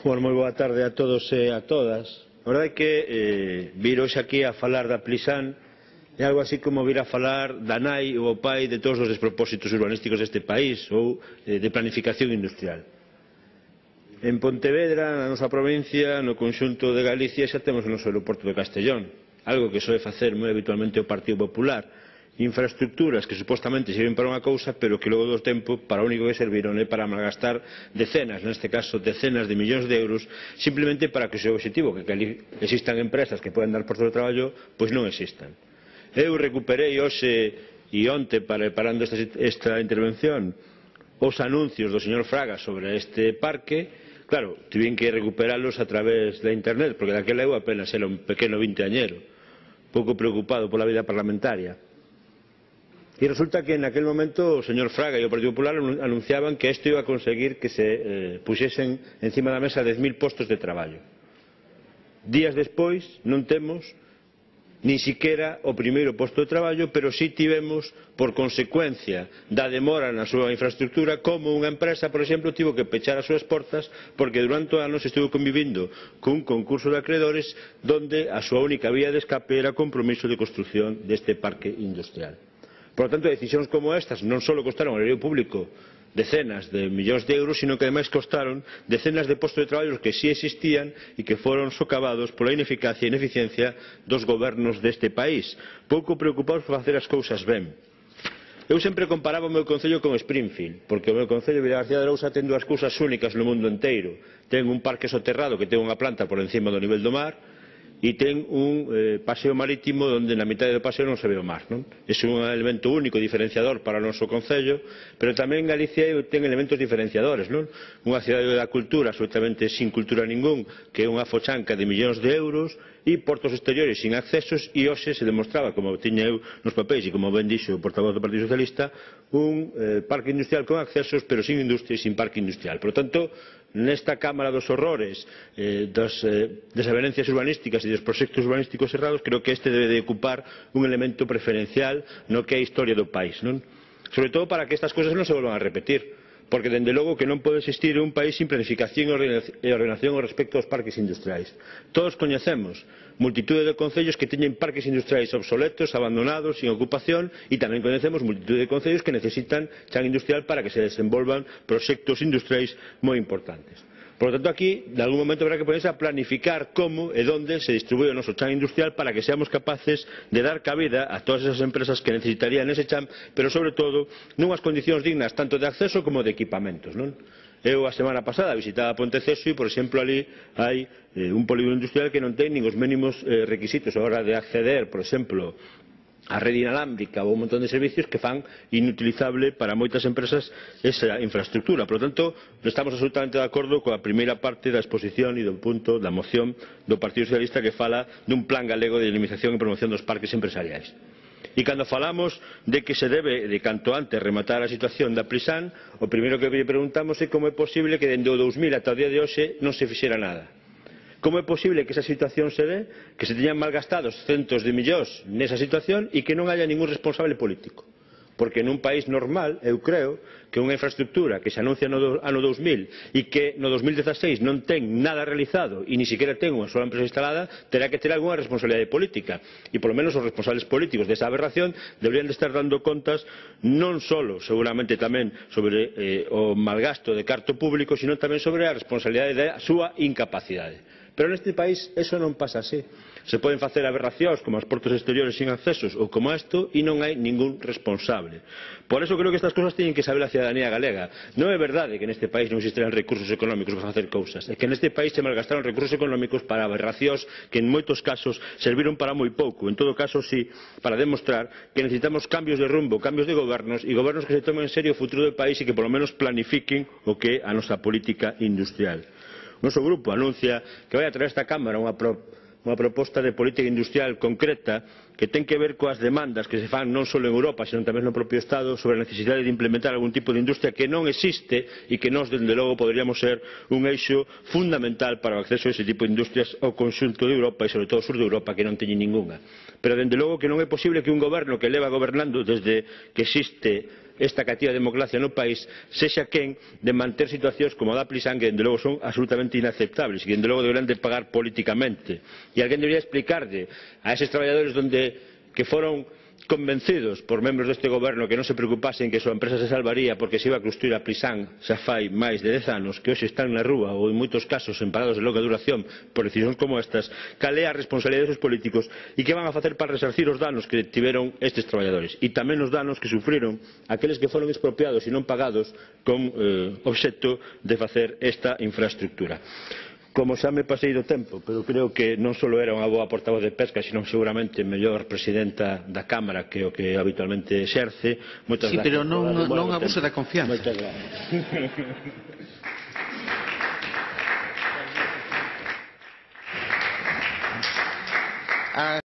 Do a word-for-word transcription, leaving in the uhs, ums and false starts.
Bueno, moi boa tarde a todos e a todas. A verdade é que eh, vir hoxe aquí a falar da Plisán é algo así como vir a falar da nai ou o pai de todos os despropósitos urbanísticos deste país ou eh, de planificación industrial. En Pontevedra, na nosa provincia, no conxunto de Galicia, xa temos o noso aeroporto de Castellón, algo que soe facer moi habitualmente o Partido Popular. Infraestructuras que supostamente sirven para unha cousa, pero que logo do tempo para o único que serviron é para malgastar decenas, neste caso decenas de millóns de euros, simplemente para que o seu objetivo, que existan empresas que poden dar postos de traballo, pois non existan. Eu recuperei hoxe e onte, preparando esta, esta intervención, os anuncios do señor Fraga sobre este parque. Claro, tiven que recuperalos a través da internet, porque daquela eu apenas era un pequeno vinteañero, pouco preocupado pola vida parlamentaria. E resulta que en aquel momento o señor Fraga e o Partido Popular anunciaban que isto iba a conseguir que se eh, puxesen encima da mesa dez mil postos de traballo. Días despois non temos nin siquiera o primeiro posto de traballo, pero sí tivemos, por consecuencia da demora na súa infraestructura, como unha empresa, por exemplo, tivo que pechar as súas portas porque durante anos estuvo convivindo cun concurso de acreedores donde a súa única vía de escape era o compromiso de construción deste parque industrial. Por lo tanto, decisións como estas non só costaron ao erario público decenas de millóns de euros, sino que ademais costaron decenas de postos de traballo que sí existían e que foron socavados pola ineficacia e ineficiencia dos gobernos deste país, pouco preocupados por facer as cousas ben. Eu sempre comparaba o meu concello con Springfield, porque o meu concello, Vilagarcía de Arousa, ten dúas cousas únicas no mundo inteiro. Ten un parque soterrado que ten unha planta por encima do nivel do mar, e ten un eh, paseo marítimo onde na mitad do paseo non se ve o mar, non? É un elemento único diferenciador para o noso concello, pero tamén Galicia ten elementos diferenciadores, non? Unha cidade da cultura absolutamente sin cultura ningún, que é unha fochanca de millóns de euros, e portos exteriores sin accesos, e hoxe se demostraba, como tiña eu nos papéis e como ben dixo o portavoz do Partido Socialista, un eh, parque industrial con accesos pero sin industria e sin parque industrial. Por lo tanto, nesta Cámara dos Horrores, eh, das eh, desavenencias urbanísticas e dos proxectos urbanísticos errados, creo que este debe de ocupar un elemento preferencial no que é a historia do país, non? Sobre todo para que estas cousas non se volvan a repetir, porque dende logo que non pode existir un país sin planificación e ordenación respecto aos parques industriais. Todos coñecemos multitude de concellos que teñen parques industriais obsoletos, abandonados, sin ocupación, e tamén coñecemos multitude de concellos que necesitan chan industrial para que se desenvolvan proxectos industriais moi importantes. Por lo tanto, aquí, de algún momento, habrá que ponerse a planificar como e onde se distribúe o noso chan industrial para que seamos capaces de dar cabida a todas esas empresas que necesitarían ese chan, pero, sobre todo, nunhas condicións dignas tanto de acceso como de equipamentos, non? Eu a semana pasada visitaba Ponteceso e, por exemplo, ali hai eh, un polígono industrial que non ten nin os mínimos eh, requisitos a hora de acceder, por exemplo, a rede inalámbrica ou un montón de servicios que fan inutilizable para moitas empresas esa infraestructura. Por lo tanto, estamos absolutamente de acordo coa primeira parte da exposición e do punto da moción do Partido Socialista que fala dun plan galego de dinamización e promoción dos parques empresariais. E cando falamos de que se debe de canto antes rematar a situación da Plisán, o primeiro que lle preguntamos é como é posible que dende o dous mil ata o día de hoxe non se fixera nada. Como é posible que esa situación se dé, que se teñan malgastados centos de millóns nesa situación e que non haya ningún responsable político? Porque nun país normal, eu creo, que unha infraestructura que se anuncia no ano dous mil e que no dos mil dieciséis non ten nada realizado e ni siquiera ten unha sola empresa instalada, terá que ter algunha responsabilidade política. E polo menos os responsables políticos desa aberración deberían de estar dando contas non só, seguramente tamén, sobre eh, o malgasto de carto público, sino tamén sobre a responsabilidade da súa incapacidade. Pero neste país eso non pasa así. Se poden facer aberracións como os portos exteriores sin accesos ou como isto e non hai ningún responsable. Por eso creo que estas cousas teñen que saber a cidadanía galega. Non é verdade que neste país non existirán recursos económicos para facer cousas. É que neste país se malgastaron recursos económicos para aberracións que en moitos casos serviron para moi pouco. En todo caso, sí, para demostrar que necesitamos cambios de rumbo, cambios de gobernos e gobernos que se tomen en serio o futuro do país e que polo menos planifiquen o que é a nosa política industrial. O noso grupo anuncia que vai a traer a esta Cámara unha, pro, unha proposta de política industrial concreta que ten que ver coas demandas que se fan non só en Europa, senón tamén no propio Estado sobre a necesidade de implementar algún tipo de industria que non existe e que nós, dende logo, poderíamos ser un eixo fundamental para o acceso a ese tipo de industrias ao conxunto de Europa e, sobre todo, ao sur de Europa, que non teñen ningunha. Pero, dende logo, que non é posible que un goberno que leva gobernando desde que existe esta cativa democracia no país sexa quen de manter situacións como a da Plisán, que dende logo son absolutamente inaceptables e que dende logo deberán de pagar políticamente. E alguén debería explicarlle a eses traballadores donde, que foron convencidos por membros deste goberno que non se preocupasen que a súa empresa se salvaría porque se iba a construir a Plisán xa fai máis de dez anos, que hoxe están na rúa ou en moitos casos en parados de longa duración por decisións como estas, cal é a responsabilidade dos políticos e que van a facer para resarcir os danos que tiveron estes traballadores e tamén os danos que sufriron aqueles que foron expropiados e non pagados con eh, obxecto de facer esta infraestructura. Como xa me pasei do tempo, pero creo que non só era unha boa portavoz de pesca, sino seguramente mellor presidenta da Cámara que o que habitualmente exerce. Moitas sí, gracias. pero non, non abuse da confianza. Moitas gracias.